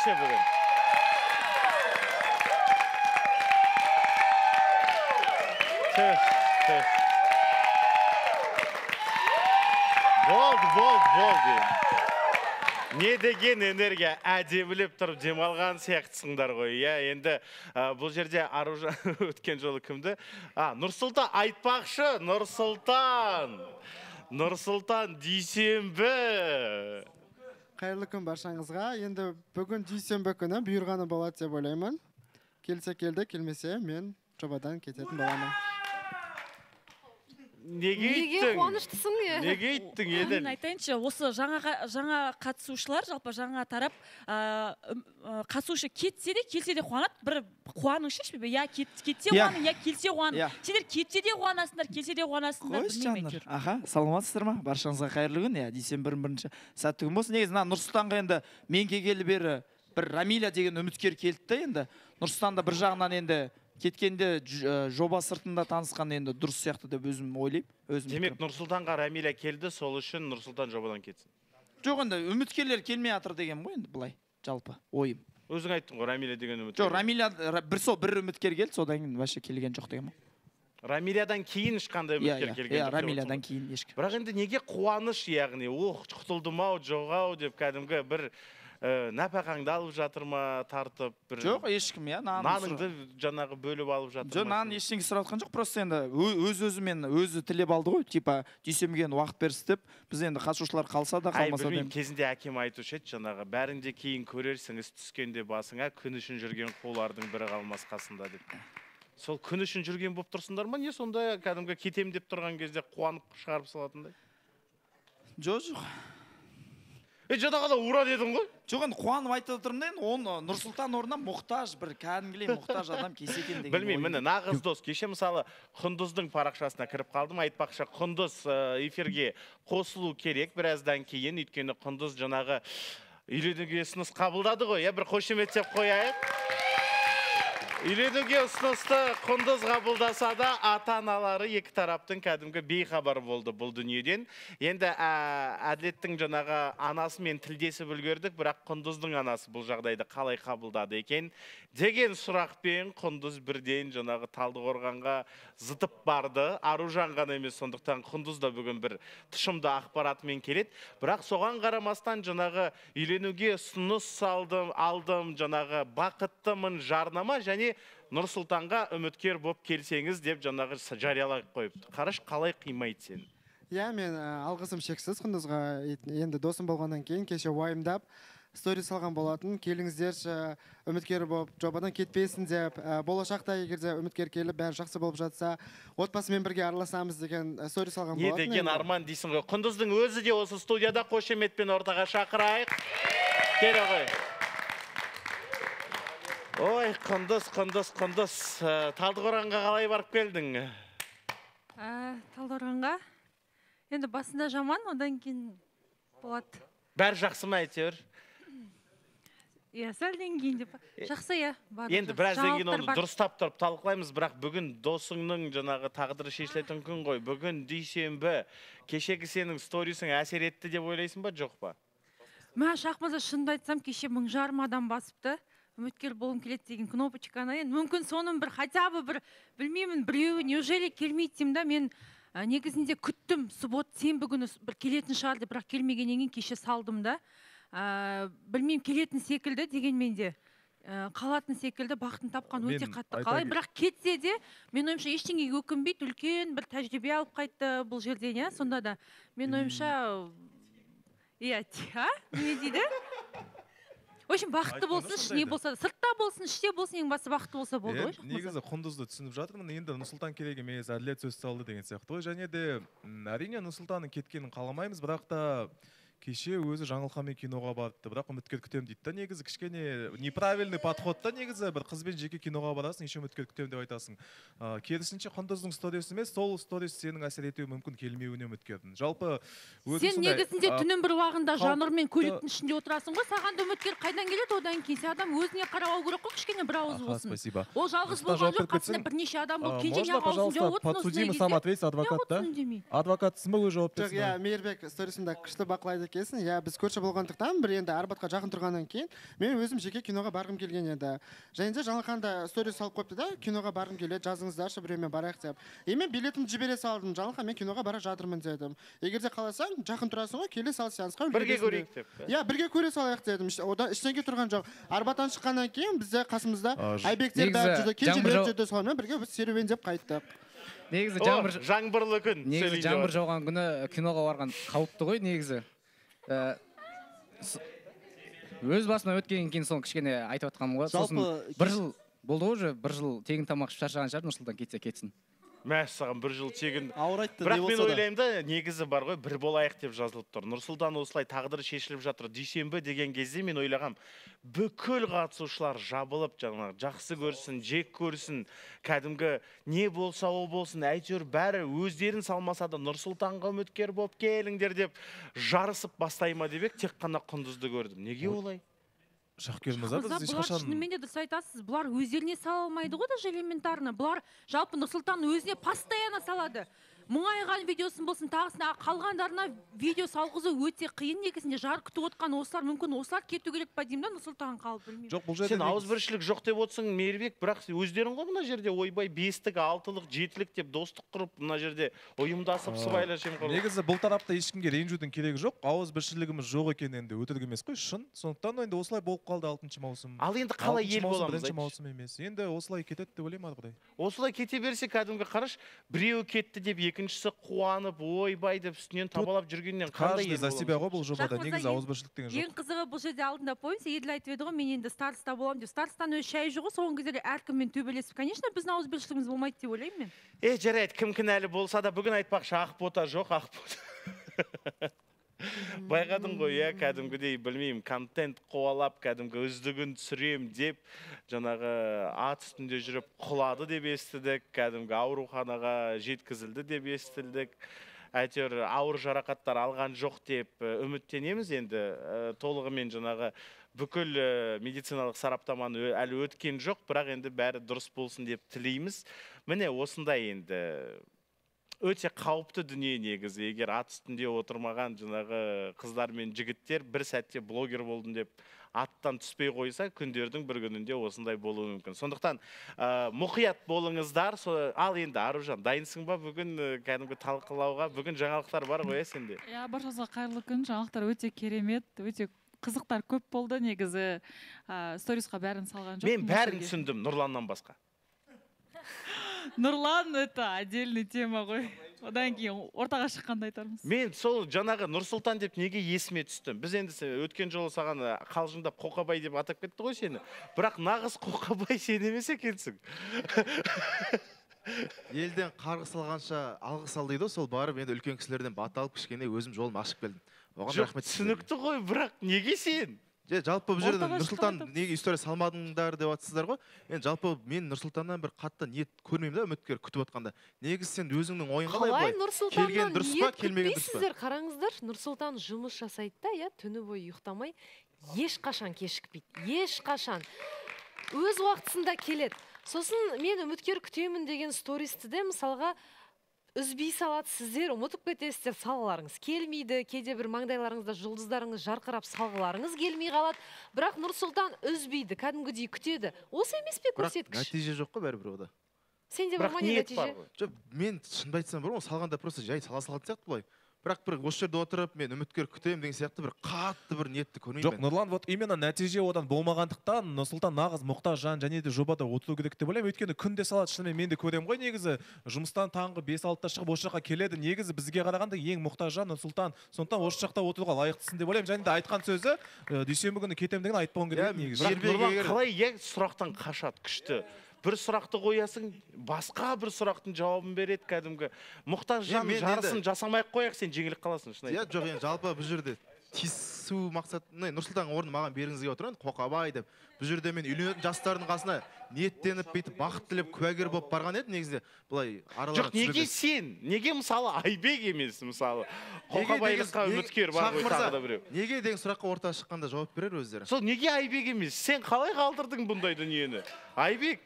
ерекше бүгін. Болды. Не деген энергия, әдемілеп тұрып демалған сияқтысыңдар ғой. Енді бұл жерде Аружан өткен жолы кімді? Нұрсұлтан айтпақшы, Нұрсұлтан дүйсенбі. Қайырлы күн баршаңызға. Енді бүгін дүйсенбі күні бұйырғаны болады деп ойлаймын. Келсе келді, келмесе мен жобадан кететін боламын. Неге қуаныштысың? Неге иттің еді? Мен айтайыншы, осы жаңа қатысушылар, жалпы жаңа тарап қатысушы кетсе де, келсе де қуанады. Бір қуаныңшы ішпе, я кетсе қуаның, я келсе қуаның. Сендер кетсе де қуанасыңдар, келсе де қуанасыңдар. Қойшы жандар. Аха, саламатсыздар ма? Баршаңызға қайырлы күн. Дүйсенбінің бірінші сәтті күн болсын. Негізі Нұрсұлтанға енді мен келгелі бері бір Рамиля деген үміткер келді енді. Нұрсұлтанда бір жағынан енді кеткенде жоба сыртында танысқан енді дұрыс сияқты деп өзім ойлаймын. Демек Нұрсұлтанға Рамиля келді, сол үшін Нұрсұлтан жобадан кетсін. Жоқ, енді үміткерлер келмей атыр деген ғой енді былай, жалпы ойым. Өзің айттың ғой, Рамиля деген үміткер. Жоқ, Рамиля бір үміткер келді, содан кейін вообще келген жоқ деген ғой. Рамилядан кейін ешқандай үміткер келген жоқ. Рамилядан кейін ешкім. Бірақ енді неге қуаныш, яғни, құтылдым-ау, жоқ-ау деп кәдімгі бір нәпақаңды алып жатыр ма, тартып бір... Жоқ, ешкім, наныңды жаңағы бөліп алып жатыр ма? Жоқ, нан ештеңе сұратқан жоқ, просто енді өз-өзімен өзі тілеп алды ғой, типа дүйсенбіген уақыт берсі деп, біз енді қатысушылар қалса да, қалмаса да. Білмеймін, кезінде әкем айтушы еді, жаңағы бәрінде кейін көрерсіңіз түскенде басыңа күн үшін жүрген қулардың бірі қалмас қасында деп. Сол күн үшін жүрген болып тұрсыңдар ма? Не сонда кәдімгі кетем деп тұрған кезде қуанып шығарып салатындай? Жоқ. Жадағада ұра дедің ғой? Жоқ, енді қуанып айтып отырмын да, оны Нұрсұлтан орнына мұқтаж, бір кәдімгідей мұқтаж адам келсе екен деген. Білмеймін, міне нағыз дос. Кеше мысалы Құндыздың парақшасына кіріп қалдым, айтпақшы Құндыз эфирге қосылу керек біраздан кейін, өйткені Құндыз жаңағы үйленуге ұсыныс қабылдады ғой, бір қошеметтеп қояйық. Үйленуге ұсынысты Құндыз қабылдаса да, ата-аналары екі тараптың кәдімгі бейхабар болды бұл дүниеден. Енді Әділеттің жаңағы анасымен тілдесіп үлгердік, бірақ Құндыздың анасы бұл жағдайды қалай қабылдады екен деген сұрақпен Құндыз бірден жаңағы Талдықорғанға зытып барды. Аружан ғана емес, сондықтан Құндыз да бүгін бір тұшымды ақпаратымен келеді. Бірақ соған қарамастан жаңағы үйленуге ұсыныс алдым, жаңағы бақыттымын жарнама және Нұрсұлтанға үміткер болып келсеңіз деп жаңағы жариялай қойыпты. Қараш, қалай қимайды сен? Мен алғысым шексіз Құндызға. Енді досым болғаннан кейін кеше уайымдап сторис салған болатын. Келіңіздерші, үміткер болып жобадан кетпейсін деп, болашақта егерде үміткер келіп бәрі жақсы болып жатса, отбасымен бірге араласамыз деген сторис салған болатын. Не деген арман дейсің ғой. Құндыздың өзі де осы студияда қошеметпен ортаға шақырайық. Келе ғой. Ой, Құндыз. Талдықорғанға қалай барып келдің? Талдықорғанға? Енді басында жаман, одан кейін болады. Бәрі жақсы ма әйтеуір? Сәлден кейін деп. Жақсы, Енді біраздан кейін оны дұрыстап тұрып талқылаймыз, бірақ бүгін досыңның жаңағы тағдыры шешілетін күн ғой. Бүгін дүйсенбі. Кешегі сенің сторисің әсер етті деп ойлайсың ба, жоқ па? Шақмаза шынды айтсам, кеше 1000 адам басыпты. Үміткер болым келеді деген кнопочканы. Мүмкін соның бір, хотя бы бір, білмеймін, біреуі неужели келмейді деймін да, мен негізінде күттім, суббот, сенбі күні бір келетін шығар деп, бірақ келмегеннен кейін кеше салдым да. Білмеймін, келетін секілді дегенмен де қалатын секілді, бақытын тапқан өте қатты қалай, бірақ кетсе де мен ойымша ештеңеге өкінбейді, үлкен бір тәжірибе алып қайтты бұл жерден, сонда да мен ойымша не дейді? В общем, бақытты болсын, ішіне болса, сыртта болсын, іште болсын, ең басы бақытты болса болды ғой. Негізі Құндызды түсініп жатырмын, енді Нұрсұлтан керек емес, әділет сөз салды деген сияқты ғой. Және де әрине Нұрсұлтанның кеткенін қаламаймыз, бірақ та кеше өзі Жаңылханмен киноға барыпты, бірақ үміткер күтем дейді. Негізі кішкене неправильный подходта, негізі бір қызбен жеке киноға барасың, еще үміткер күтем деп айтасың. Керісінше Құндыздың сторис емес, сол сторис сенің әсер етуі мүмкін келмеуіне үміткердің. Жалпы сен негізінде түннің бір уағында жанрмен көліктің ішінде отырасың ғой, саған да үміткер қайдан келеді, одан кейін сен адам өзіне қарау керек қой, кішкене бір ауыз болсын. Спасибо. Ол жалғыз болған жоқ, қасында бірнеше адам болып, кенжен аузын жауып отырсын осындай кезде. Адвокат, да? Адвокатсың ба, өз жауап берсін? Мейірбек сторисында күшті бақылайды келсін. Иә, біз көрші болғандықтан бір енді Арбатқа жақын тұрғаннан кейін мен өзім жеке киноға барғым келген еді. Және де Жаңылхан да сторис салып қойыпты да, киноға барғым келеді, жазыңыздаршы, біреумен барайық деп. Мен билетімді жібере салдым. Жаңылхан, мен киноға бара жатырмын дедім. Егер де қаласаң, жақын тұрасың ғой, келе сал сеансқа. Бірге көрейік деп. Иә, бірге көре салайық дедім. Одан ештеңе тұрған жоқ. Арбаттан шыққаннан кейін бізде қасымызда Айбектер бәрі жүрді, кенжелер жүрді, солармен бірге біз серуендеп қайттық. Негізі жаңбырлы күн. Негізі жаңбыр жауған күні киноға барған қауіпті ғой негізі. Өз басыма өткеннен кейін соны кішкене айтып жатқаным ғой. Сосын бір жыл болды ғой уже, бір жыл тегін тамақ ішіп шаршаған шығар, Нұрсұлтан кетсін. Мәссаған бір жыл тегін. Ауыр айтты. Бірақ мен ойлаймын да, негізі бар ғой, бір болайық деп жазылып тұр. Нұрсұлтан осылай тағдыры шешіліп жатыр. Дүйсенбі деген кезде мен ойлағам, бүкіл қатысушылар жабылып, жақсы көрсін, жек көрсін, кәдімгі не болса ол болсын, әйтеуір бәрі өздерін салмаса да Нұрсұлтанға үміткер болып келіңдер деп жарысып бастайма деп ек, тек қана Құндызды көрдім. Неге олай? Шахкер мырза, біз ешқашан... Шынымен де дұрыс айтасыз, бұлар өздеріне сала алмайды ғой, даже элементарно. Бұлар жалпы Нұрсұлтан өзіне постоянно салады. Мұңайған видеосын болсын, тағысына қалғандарына видео салғызу өте қиын. Негізінде жар күтіп отқан осылар, мүмкін осылар кету керек па деймін да, Нұрсұлтан қалып білмеймін. Жоқ, бұл жерде сен ауызбіршілік жоқ деп отырсың, Мейірбек, бірақ өздерің ғой мына жерде ойбай 5-тік, 6-лық, 7-лік деп достық құрып, мына жерде ұйымдасып сыбайлас жемқорлық. Негізі бұл тарапта ешкімге ренжудің керегі жоқ. Ауызбіршілігіміз жоқ екен енді өтірік емес қой, шын. Сондықтан енді осылай болып қалды 6-шы маусым. Ал енді қалай ел боламыз? 1-шы маусым емес. Енді осылай кетеді деп ойлаймын арқыдай. Осылай кете берсе, кәдімгі қараш, біреуі кетті деп екіншісі қуанып, ойбай деп үстінен табалап жүргеннен қандай ел боламыз? За себя ғой бұл жобада, негізі ауызбіршілік деген жоқ. Ең қызығы бұл жерде алдында пойымса, Еділ айтып еді ғой, мен енді староста боламын деп. Старостан өз шайы жоқ, соңғы кездері әркіммен төбелесіп, конечно, біздің ауызбіршілігіміз болмайды деп ойлаймын мен. Жарайды, кім кінәлі болса да, бүгін айтпақшы ақбота жоқ, ақбота. Байқадың ғой, кәдімгідей, білмеймін, контент қуалап, кәдімгі үздігін түсірем деп, жаңағы ат үстінде жүріп құлады деп естідік, кәдімгі ауруханаға жеткізілді деп естілдік. Әйтеуір ауыр жарақаттар алған жоқ деп үміттенеміз енді. Толығымен жаңағы бүкіл медициналық сараптаманы әлі өткен жоқ, бірақ енді бәрі дұрыс болсын деп тілейміз. Міне осындай енді өте қауіпті дүние негізі. Егер ат үстінде отырмаған жаңағы қыздар мен жігіттер бір сәтте блогер болдым деп аттан түспей қойса, күндердің бір күнінде осындай болуы мүмкін. Сондықтан мұқият болыңыздар. Ал енді Аружан, дайынсың ба бүгін кәдімгі талқылауға? Бүгін жаңалықтар бар ғой сенде? Баршаңызға қайырлы күн. Жаңалықтар өте керемет, өте қызықтар көп болды негізі. Сторисқа бәрін салған жоқ. Мен бәрін түсіндім, Нұрланнан басқа. Нұрлан, это отдельный тема ғой. Одан кейін ортаға шыққанда айтармыз. Мен сол жаңағы Нұрсұлтан деп неге есіме түстім? Біз енді өткен жолы саған қалжыңдап Қоқабай деп атап кетті ғой сені. Бірақ нағыз Қоқабай сен емес екенсің. Елден қарғыс алғанша алғыс ал дейді, сол барып енді үлкен кісілерден бата алып кішкене өзім жолым ашып келдім. Оған рахмет. Түсінікті ғой, бірақ неге сен? Жалпы бұл жерде Нұрсұлтан неге история салмадыңдар деп атсыздар ғой. Енді жалпы мен Нұрсұлтаннан бір қатты ниет көрмеймін да, үміткер күтіп отқанда. Негізі сен өзіңнің ойың қалай былай? Келген дұрыс па, келмеген дұрыс па? Қараңыздар, Нұрсұлтан жұмыс жасайды да, түні бойы ұйықтамай, ешқашан кешікпейді. Ешқашан. Өз уақытысында келеді. Сосын мен үміткер күтемін деген стористі де мысалға үзбей салады, сіздер ұмытып кетесіздер, салғыларыңыз келмейді, кейде бір маңдайларыңызда жұлдыздарыңыз жарқырап салғыларыңыз келмей қалады. Бірақ Нұрсұлтан үзбейді, кәдімгідей күтеді. Осы емес пе көрсеткіш? Бірақ нәтиже жоқ қой бәрібір ода. Сенде бар ма не нәтиже? Жоқ, мен шынымды айтсам бар ғой, салғанда просто жай сала салатын сияқты былай. Бірақ бір осы жерде отырып, мен үміткер күтемін деген сияқты бір қатты бір ниетті көрмеймін. Жоқ, Нұрлан, вот именно нәтиже одан болмағандықтан Нұрсұлтан нағыз мұқтаж жан және де жобада отыру керек деп ойлаймын. Өйткені күнде салады, шынымен мен де көремін ғой негізі. Жұмыстан таңғы 5-6-та шығып осы жаққа келеді. Негізі бізге қарағанда ең мұқтаж жан Нұрсұлтан. Сондықтан осы жақта отыруға лайықтысың деп ойлаймын. Және де айтқан сөзі дүйсенбі күні кетемін деген айтпауым керек негізі. Нұрлан қалай сұрақтан қашады күшті? Бір сұрақты қоясың, басқа бір сұрақтың жауабын береді кәдімгі. Мұқтаж жан жарысын жасамай қояқ, сен жеңіліп қаласың. Жоқ, жалпы бұл жерде тиісу мақсат, Нұрсұлтан орны маған бергіңізге отырған, Қоқабай деп. Бұл жерде мен үйленетін жастардың қасына ниеттеніп, бүйтіп бақыт тілеп, куәгер болып барған еді негізінде. Былай араларын түсіріп. Жоқ, неге сен? Неге мысалы Айбек емес мысалы? Қоқабайлыққа үміткер бар ғой тағы да біреу. Неге деген сұраққа ортаға шыққанда жауап берер өздері. Сол неге Айбек емес? Сен қалай қалдырдың бұндай дүниені? Айбек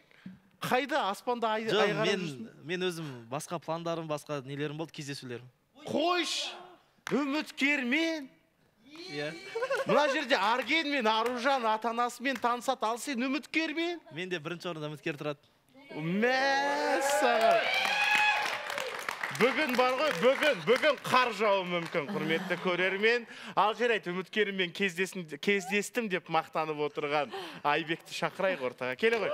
қайда аспанда айғарып жүрсің? Мен өзім басқа пландарым, басқа нелерім болды, кездесулерім. Қойш, үміткермен Иә. Мына жерде Арген мен Аружан ата-анасымен танысады, ал сен үміткермен? Мен де бірінші орында үміткер тұрады. Мәссаған. Бүгін бар ғой, бүгін қар жауы мүмкін, құрметті көрермен. Ал жарайды, үміткеріммен кездестім деп мақтанып отырған Айбекті шақырайық ортаға. Келе ғой.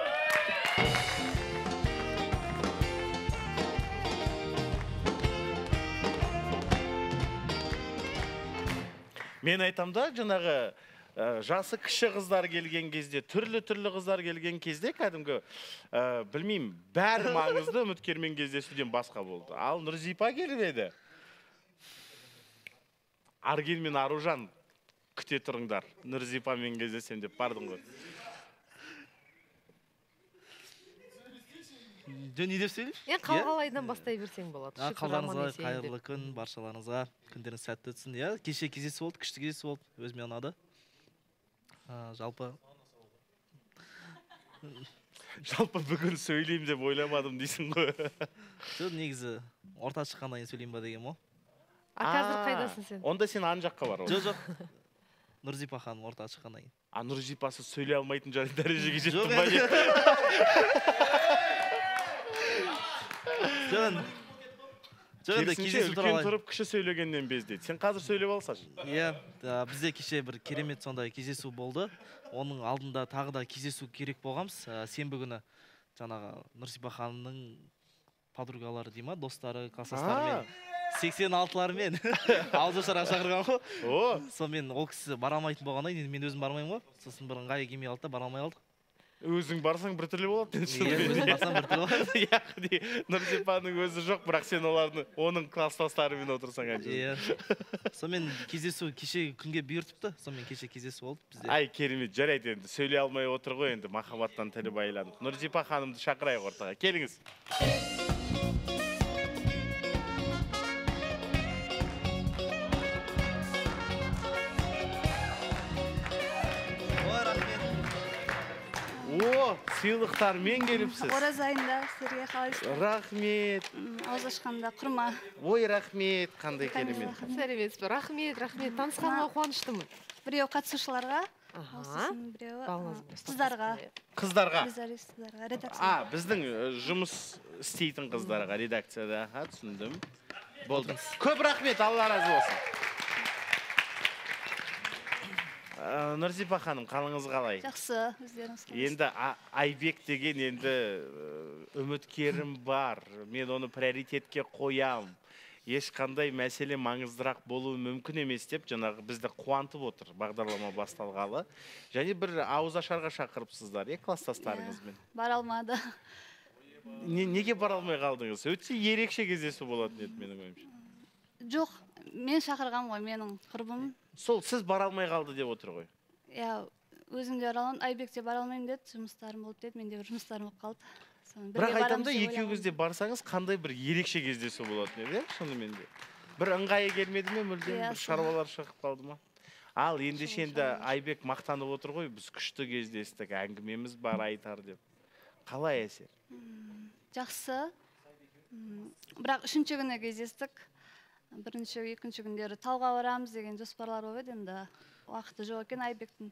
Мен айтам да, жаңағы жасы кіші қыздар келген кезде, түрлі қыздар келген кезде, кәдімгі, білмеймін, бәрі маңызды үміткермен кездесуден басқа болды. Ал Нұрзипа келіп еді. Арген мен Аружан күте тұрыңдар. Нұрзипамен кездесем деп бардың ғой. Жөн не деп сөйлейші? Қалғалайдан бастай берсең болады. Қалдарыңызға қайырлы күн, баршаларыңызға күндеріңіз сәтті өтсін. Кеше кездесу болды, күшті кездесу болды, өзіме ұнады. Жалпы бүгін сөйлеймін деп ойламадым дейсің ғой. Негізі орта шыққаннан кейін сөйлеймін ба деген о. Қазір қайдасың сен? Онда сен ан жаққа бар. Жоқ. Нұрзипа ханым орта шыққаннан кейін. Нұрзипасы сөйлей алмайтын дәрежеге жетті ма? Керісінше үлкен тұрып кіші сөйлегеннен бездейді. Сен қазір сөйлеп алсашы. Иә, бізде кеше бір керемет сондай кездесу болды. Оның алдында тағы да кездесу керек болғамыз. Сенбі күні жаңағы Нұрзипа ханымның подругалары дей ма, достары, класстастарымен 86-лармен ауызашарға шақырған ғой. Сонымен ол кісі бара алмайтын болғаннан кейін мен өзім бармаймын ғой. Сосын бір ыңғайы келмей қалды да бара алмай қалдық. Өзің барсаң бір түрлі болады. Өзім барсам бір түрлі болады. Яғни Нұрзипаның өзі жоқ, бірақ сен оның класстастарымен отырсаң әнші. Иә. Сонымен кездесу кеше күнге бұйыртыпты. Сонымен кеше кездесу болды бізде. Ай, керемет, жарайды енді. Сөйлей алмай отыр ғой енді, махаббаттан тілі байланып. Нұрзипа ханымды шақырайық ортаға. Келіңіз. Сыйлықтармен келіпсіз. Ораза айында сіздерге қалайсыздар? Рахмет. Ауыз ашқанда құрма. Ой, рахмет, қандай керемет. Сәлеметсіз бе? Рахмет. Танысқанға қуаныштымын. Біреу қатысушыларға, біреу қыздарға. Қыздарға? Редакция. Біздің жұмыс істейтін қыздарға, редакцияда. Түсіндім. Болды. Көп рахмет, Алла разы болсын. Нұрзипа ханым, қалыңыз қалай? Жақсы, өздеріңіз қалайсыз. Енді Айбек деген енді үміткерім бар. Мен оны приоритетке қоям. Ешқандай мәселе маңыздырақ болуы мүмкін емес деп, жаңағы бізді қуантып отыр бағдарлама басталғалы. Және бір ауызашарға шақырыпсыздар, класстастарыңызбен. Бара алмады. Неге бара алмай қалдыңыз? Өтсе ерекше кездесу болатын еді менің ойымша. Жоқ, мен шақырғам ғой, менің құрбым. Сол сіз бара алмай қалды деп отыр ғой. Иә, өзім де бара алмадым, Айбек те бара алмаймын деді, жұмыстарым болды деді, менде бір жұмыстарым болып қалды. Бірақ айтамда, екеуіңіз де барсаңыз, қандай бір ерекше кездесу болатын еді, шынымен де. Бір ыңғайы келмеді ме, мүлдем бір шаруалар шығып қалды ма? Ал ендеше енді Айбек мақтанып отыр ғой, біз күшті кездестік, әңгімеміз бар айтар деп. Қалай әсер? Жақсы. Бірақ үшінші күні кездестік. Бірінші, екінші күндері тауға барамыз деген жоспарлар болып еді, енді уақыты жоқ екен Айбектің.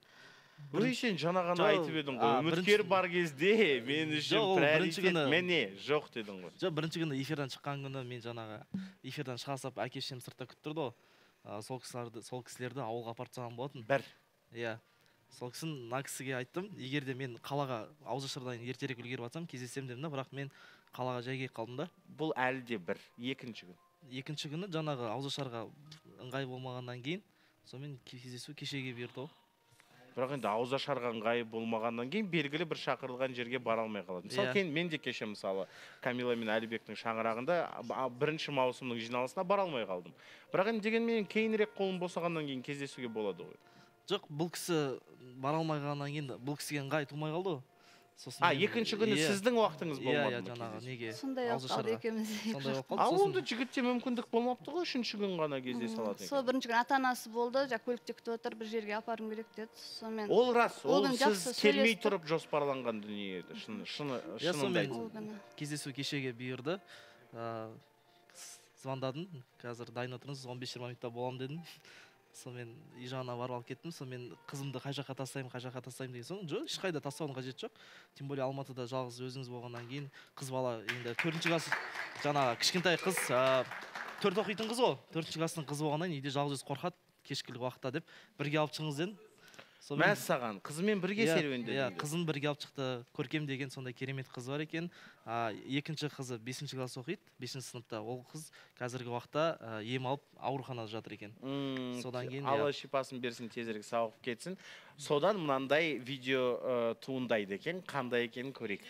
Өй, сен жаңа ғана айтып едің ғой, үміткер бар кезде мен үшін приоритет мене жоқ дедің ғой. Жоқ, бірінші күні эфирден шыққан күні мен жаңағы эфирден шыға салып әке-шешем сыртта күтіп тұрды ғой. Сол кісілерді ауылға апарып тастаған болатын. Бір. Иә. Сол кісін мына кісіге айттым, егер де мен қалаға ауызашардан ертерек үлгеріп жатсам, кездесем дедім да, бірақ мен қалаға жай келіп қалдым да. Бұл әлі де бір, екінші күн. Екінші күні жаңағы ауызашарға ыңғай болмағаннан кейін, сонымен кездесу кешеге бұйырды. Бірақ енді ауызашарға ыңғайы болмағаннан кейін белгілі бір шақырылған жерге бара алмай қалады. Мысалы, мен де кеше мысалы Камила мен Әлібектің шаңырағында 1 маусымның жиналысына бара алмай қалдым. Бірақ енді дегенмен кейінірек қолым босағаннан кейін кездесуге болады ғой. Жоқ, бұл кісі бара алмай қалғаннан кейін бұл кісіге ыңғай тумай қалды ғой. Екінші күні сіздің уақытыңыз болмады ма? Жаңағы неге? Сондай қалды екеумізде. Ал онда жігітте мүмкіндік болмапты ғой, үшінші күн ғана кездесе алады. Сол бірінші күн ата-анасы болды, көлікте күтіп отыр, бір жерге апарым керек деді. Ол рас, ол сіз келмей тұрып жоспарланған дүние еді, шынында айтсам. Кездесу кешеге бұйырды. Звондадым, қазір дайын отырыңыз, 15-20 минутта боламын дедім. Сонымен үй жағына барып алып кеттім. Сонымен қызымды қай жаққа тастаймын деген соң, жоқ, ешқайда тастаудың қажеті жоқ. Тем более Алматыда жалғыз өзіңіз болғаннан кейін қыз бала енді 4-ші класс жаңағы кішкентай қыз 4 оқитын қыз ғой. 4-ші класстың қызы болғаннан үйде жалғыз қорқады кешкілік уақытта деп бірге алып шығыңыз дедім. Мәссаған, қызымен бірге серуендеді. Иә, қызын бірге алып шықты. Көркем деген сондай керемет қыз бар екен. Екінші қызы 5-ші класс оқиды, 5-ші сыныпта. Ол қыз қазіргі уақытта ем алып ауруханада жатыр екен. Содан кейін Алла шипасын берсін, тезірек сауығып кетсін. Содан мынандай видео туындайды екен, қандай екенін көрейік.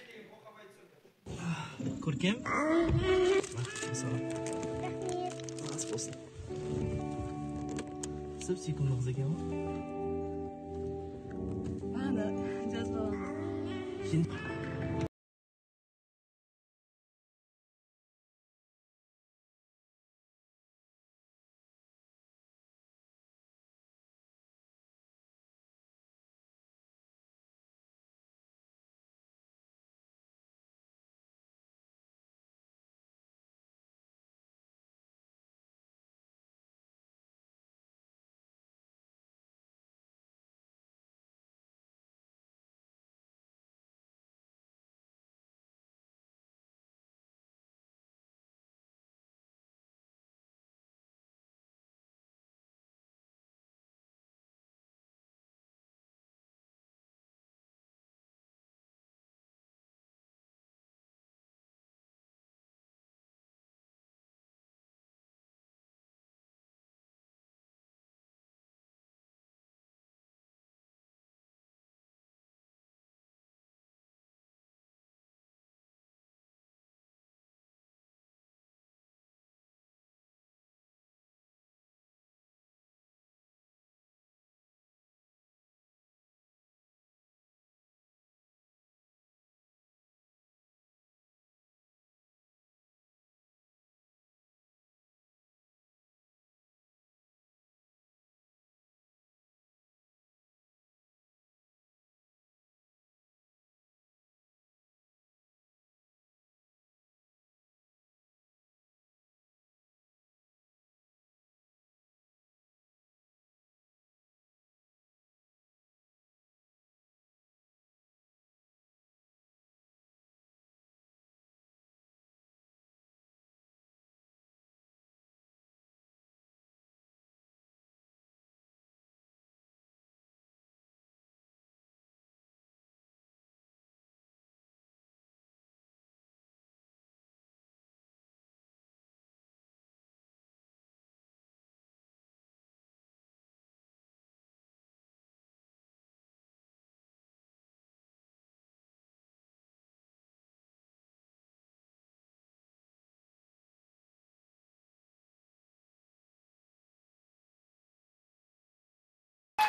Көркем? Ас болсын. Сіп сүйкімді қыз екен ғой?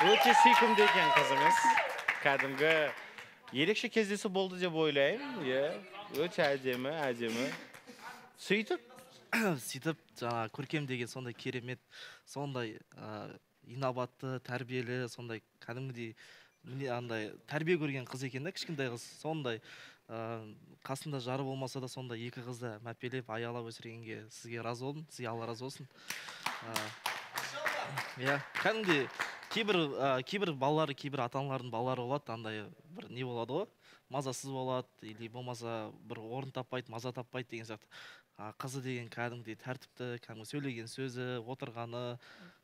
Өте сүйкімді екен қызыңыз. Кәдімгі ерекше кездесу болды деп ойлаймын. Өте әдемі. Сөйтіп, жаңа көркем деген сондай керемет, сондай инабатты, тәрбиелі, сондай кәдімгідей тәрбие көрген қыз екен да, кішкентай қыз. Сондай қасында жары болмаса да сондай екі қызды мәпелеп, аялап өсіргенге сізге разы болдым, сізге Алла разы болсын. Кәдімгідей кейбір балалары, кейбір ата-аналардың балалары болады, андай бір не болады ғой, мазасыз болады, или болмаса бір орын таппайды, маза таппайды деген сияқты. Қызы деген кәдімгідей тәртіпті, кәдімгі сөйлеген сөзі, отырғаны,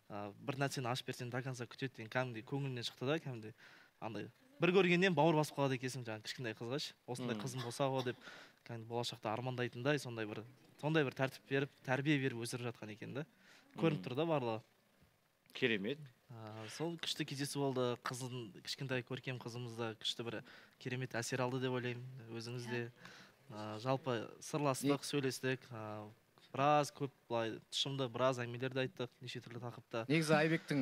бір нәрсені ашып берсең до конца күтеді деген кәдімгідей көңілінен шықты да, кәдімгідей андай. Бір көргеннен бауыр басып қалады екенсің, жаңағы кішкентай қызға ше, осындай қызым болса ғой деп, кәдімгі болашақта армандайтындай сондай бір тәртіп беріп, тәрбие беріп өсіріп жатқан екен да. Көрініп тұр да барлығы. Керемет. Сол күшті кездесу болды. Қызын, кішкентай көркем қызымызда күшті бір керемет әсер алды деп ойлаймын. Өзіңіз де жалпы сырластық, сөйлестік. Біраз көп былай тұшымды біраз әңгімелерді айттық, неше түрлі тақырыпта. Негізі Айбектің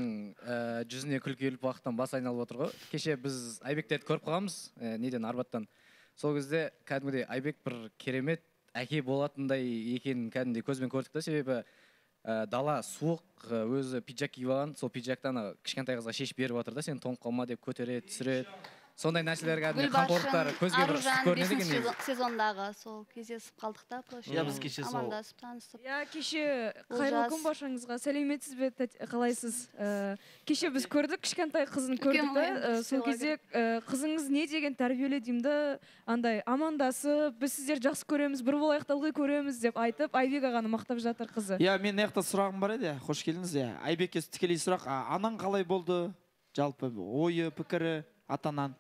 жүзіне күлкі келіп уақыттан бас айналып отыр ғой. Кеше біз Айбектерді көріп қалғанбыз, неден Арбаттан. Сол кезде кәдімгідей Айбек бір керемет әке болатындай екенін кәдімгідей көзбен көрдік та, себебі дала суық, өзі пиджак киіп алған, сол пиджактан кішкентай қызға шешіп беріп отыр да, сен тоңып қалма деп көтереді, түсіреді. сондай нәрселерге қамқорлықтар көзге бір көрінеді екен негізі. Сезондағы сол кездесіп қалдық та біз кеше сол амандасып танысып. Кеше қайырлы күн баршаңызға. Сәлеметсіз бе, қалайсыз? Кеше біз көрдік, кішкентай қызын көрдік та, сол кезде қызыңыз не деген тәрбиелі деймді, андай амандасып, біз сіздер жақсы көреміз, бір болайық ылғи көреміз деп айтып, Айбек ағаны мақтап жатыр қызы. Мен мына жақта сұрағым бар еді, қош келдіңіз. Айбекке тікелей сұрақ, анаң қалай болды? Жалпы ойы, пікірі атанан.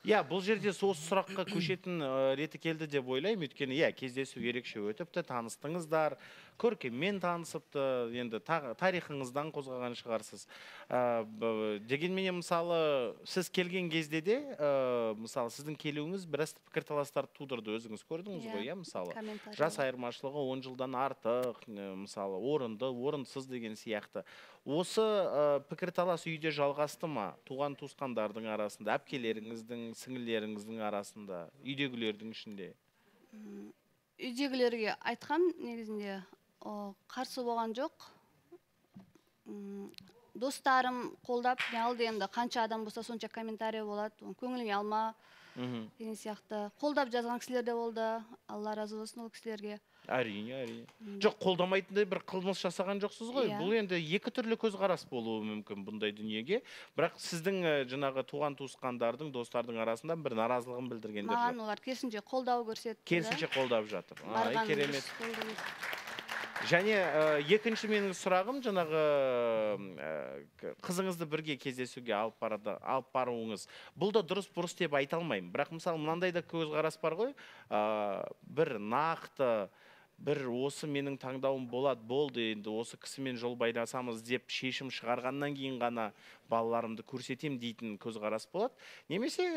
Бұл жерде сол сұраққа көшетін реті келді деп ойлаймын, өйткені кездесу ерекше өтіпті, таныстыңыздар, көркеммен танысыпты, енді тарихыңыздан қозғаған шығарсыз. Дегенменен мысалы сіз келген кезде де, мысалы сіздің келуіңіз біраз пікірталастар тудырды, өзіңіз көрдіңіз ғой, мысалы. Жас айырмашылығы 10 жылдан артық, мысалы орынды, орынсыз деген сияқты. Осы пікірталас үйде жалғасты ма? Туған туысқандардың арасында, әпкелеріңіздің, сіңілеріңіздің арасында, үйдегілердің ішінде? Үйдегілерге айтқам негізінде қарсы болған жоқ. Достарым қолдап, алды енді қанша адам болса сонша комментарий болады, көңіліңе алма деген сияқты. Қолдап жазған кісілер де болды, Алла разы болсын ол кісілерге. Әрине. Жоқ, қолдамайтындай бір қылмыс жасаған жоқсыз ғой. Бұл енді екі түрлі көзқарас болуы мүмкін бұндай дүниеге. Бірақ сіздің жаңағы туған туысқандардың, достардың арасында бір наразылығын білдіргендер жоқ. Маған олар керісінше қолдау көрсетті. Керісінше қолдап жатыр. Керемет. Және екінші менің сұрағым, жаңағы қызыңызды бірге кездесуге алып баруыңыз. Бұл да дұрыс-бұрыс деп айта алмаймын. Бірақ мысалы мынандай да көзқарас бар ғой, бір нақты, бір осы менің таңдауым болды, енді осы кісімен жол байласамыз деп шешім шығарғаннан кейін ғана балаларымды көрсетем дейтін көзқарас болады. Немесе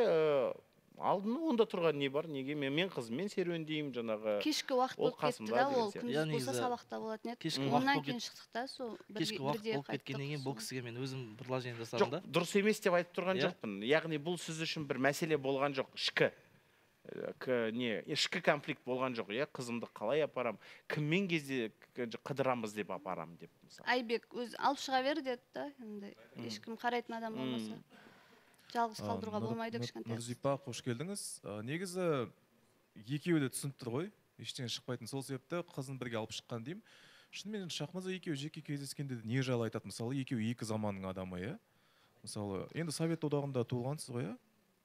алдын онда тұрған не бар, неге мен қызыммен серуендеймін, жаңағы кешкі уақыт болып кетті да, ол күндіз болса сабақта болатын еді. Оннан кейін шықтық та, сол кешкі уақыт болып кеткеннен кейін бұл кісіге мен өзім предложение жасадым да. Жоқ, дұрыс емес деп айтып тұрған жоқпын. Яғни бұл сіз үшін бір мәселе болған жоқ, ішкі конфликт болған жоқ, қызымды қалай апарам, кіммен кезде қыдырамыз деп апарам деп. Айбек өз алып шыға бер деді да, ешкім қарайтын адам болмаса. Жалғыз қалдыруға болмайды кішкентай. Нұрзипа, қош келдіңіз. Негізі екеуі де түсініп тұр ғой, ештеңе шықпайтын. Сол себепті қызын бірге алып шыққан деймін. Шынымен Шахмаза екеуі жеке кездескенде не жайлы айтады? Мысалы, екеуі екі заманның адамы, мысалы, енді Совет одағында туылғансыз ғой,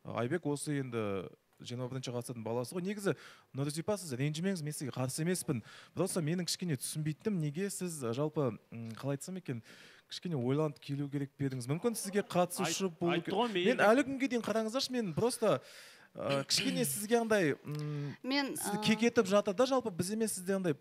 Айбек осы енді 21-ші ғасырдың баласы ғой. Негізі Нұрзипа, сіз ренжімеңіз, мен сізге қарсы емеспін. Просто менің кішкене түсінбейтінім, неге сіз жалпы қалай айтсам екен, кішкене ойланып келу керек бердіңіз. Мүмкін сізге қатысушы болу керек. Мен әлі күнге дейін қараңыздаршы, мен просто кішкене сізге андай кекетіп жатыр да, жалпы біз емес сізде андай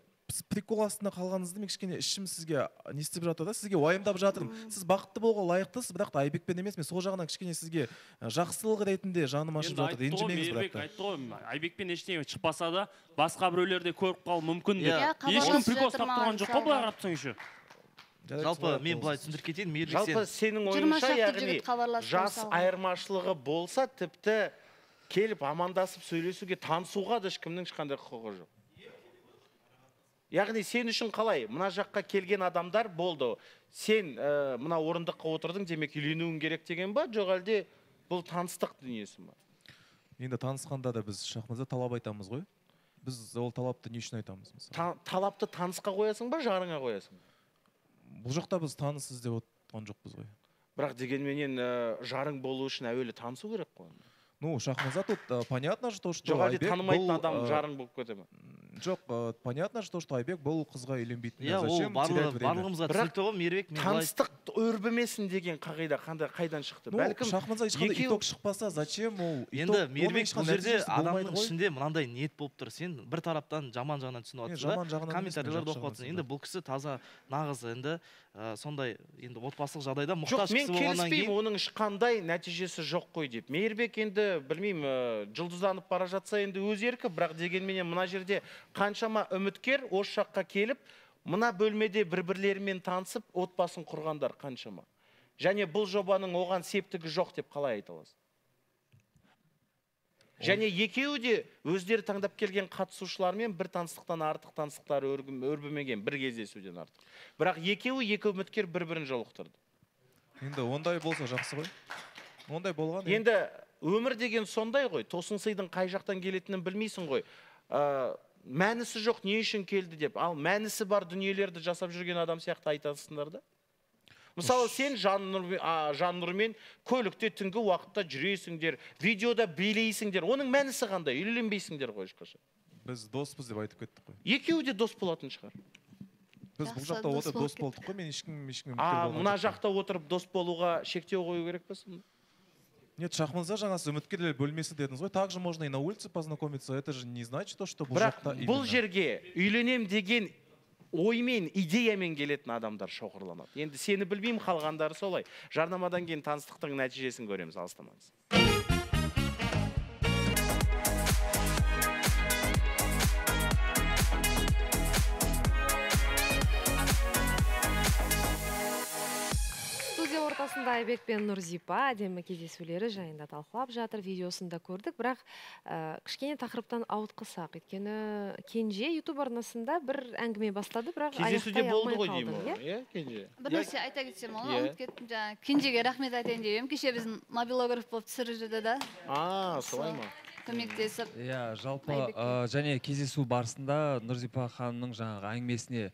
прикол астында қалғаныңызды мен кішкене ішім сізге не істеп жатыр да, сізге уайымдап жатырмын. Сіз бақытты болуға лайықтысыз, бірақ та Айбекпен емес, мен сол жағынан кішкене сізге жақсылық ретінде жаным ашып жатыр. Ренжімеңіз бірақ та. Айтты ғой, Айбекпен ештеңе шықпаса да, басқа біреулерде көріп қалу мүмкін деп. Ешкім прикол ұстап тұрған жоқ қой, былай қарап тұрсаң еще. Жалпы мен былай түсіндіріп кетейін, жалпы сенің ойыңша, яғни жас айырмашылығы болса, тіпті келіп амандасып сөйлесуге, танысуға да ешкімнің ешқандай құқығы жоқ. Яғни сен үшін қалай? Мына жаққа келген адамдар болды. Сен мына орындыққа отырдың, демек үйленуің керек деген ба? Жоқ әлде бұл таныстық дүниесі ма? Енді танысқанда да біз Шахмаза талап айтамыз ғой. Біз ол талапты не үшін айтамыз? Талапты танысқа қоясың ба, жарыңа қоясың? Бұл жақта біз таныс іздеп отырған жоқпыз ғой. Бірақ дегенменен жарың болу үшін әуелі танысу керек қой. Ну, Шахмаза тут понятно, что Жоқ, әлде танымайтын адам жарың болып кете ме? Жоқ, понятно, что Айбек бұл қызға үйленбейтін. Ол барлығымызға түсінікті ғой, Мейірбек. Таныстық өрбімесін деген қағида қайдан шықты? Бәлкім Шахмаза ешқандай итог шықпаса, зачем ол? Енді Мейірбек бұл жерде адамның ішінде мынандай ниет болып тұр. Сен бір тараптан жаман жағынан түсініп отырсың да, комментарийлерді оқып отырсың. Енді бұл кісі таза нағыз енді сондай енді отбасылық жағдайда мұқтаж кісі болғаннан кейін. Жоқ, мен келіспеймін, оның ешқандай нәтижесі жоқ қой деп. Мейірбек енді білмеймін, жұлдызданып бара жатса енді өз еркі, бірақ дегенменен мына жерде қаншама үміткер осы жаққа келіп, мына бөлмеде бір-бірлерімен танысып, отбасын құрғандар қаншама. Және бұл жобаның оған септігі жоқ деп қалай айта аласыз? Және екеуі де өздері таңдап келген қатысушылармен бір таныстықтан артық таныстықтар өрбімеген, бір кездесуден артық. Бірақ екеуі екі үміткер бір-бірін жолықтырды. Енді ондай болса жақсы ғой. Ондай болған. Енді өмір деген сондай ғой, тосын сыйдың қай жақтан келетінін білмейсің ғой. Мәнісі жоқ, не үшін келді деп. Ал мәнісі бар дүниелерді жасап жүрген адам сияқты айтасыңдар да. Мысалы, сен Жаннұрмен көлікте түнгі уақытта жүресіңдер, видеода билейсіңдер. Оның мәнісі қандай? Үйленбейсіңдер ғой ешқашан. Біз доспыз деп айтып кеттік қой. Екеуі де дос болатын шығар. Біз бұл жақта отырып дос болдық қой, мен ешкіммен мына жақта отырып дос болуға шектеу қою керек пе сонда? Нет, Шахманза жаңасы үміткерлер бөлмесі дедіңіз ғой. Также можно и на улице познакомиться. Это же не значит, что бұл жақта именно. Бұл жерге үйленем деген оймен, идеямен келетін адамдар шоғырланады. Енді сені білмеймін, қалғандары солай. Жарнамадан кейін таныстықтың нәтижесін көреміз, алыстамаңыз. Студия ортасында Айбек пен Нұрзипа әдемі кездесулері жайында талқылап жатыр, видеосында көрдік, бірақ кішкене тақырыптан ауытқысақ. Өйткені Кенже YouTube арнасында бір әңгіме бастады, бірақ аяқтай алмай қалдым. Бір нәрсе айта кетсем, ұмытып кеттім. Кенжеге рахмет айтайын деп, кеше біздің мобилограф болып түсіріп жүрді да. Солай ма? Көмектесіп. Жалпы және кездесу барысында Нұрзипа ханымның жаңағы әңгімесіне